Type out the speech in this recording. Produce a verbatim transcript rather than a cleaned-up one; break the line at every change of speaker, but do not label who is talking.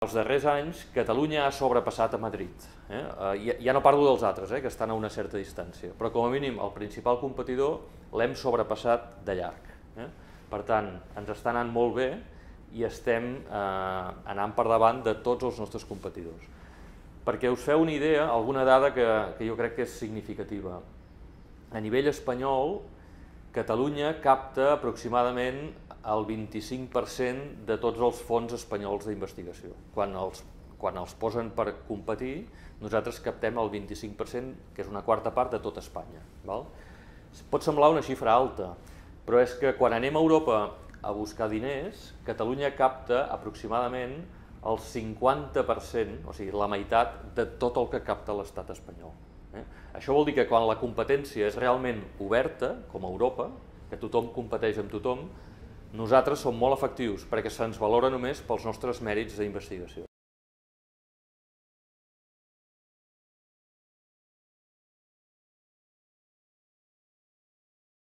Els darrers anys, Catalunya ha sobrepassat a Madrid. Eh? Ja, ja no parlo dels altres, eh, que estan a una certa distància, però com a mínim el principal competidor l'hem sobrepassat de llarg. Eh? Per tant, ens està anant molt bé i estem eh, anant per davant de tots els nostres competidors. Perquè us feu una idea, alguna dada que, que jo crec que és significativa. A nivell espanyol, Catalunya capta aproximadament el vint-i-cinc per cent de tots els fons espanyols d'investigació. Quan els, quan els posen per competir, nosaltres captem el vint-i-cinc per cent, que és una quarta part de tot Espanya. Val? Pot semblar una xifra alta, però és que quan anem a Europa a buscar diners, Catalunya capta aproximadament el cinquanta per cent, o sigui, la meitat de tot el que capta l'estat espanyol. Eh? Això vol dir que quan la competència és realment oberta, com a Europa, que tothom competeix amb tothom, nosaltres som molt efectius perquè se'ns valora només pels nostres mèrits d'investigació.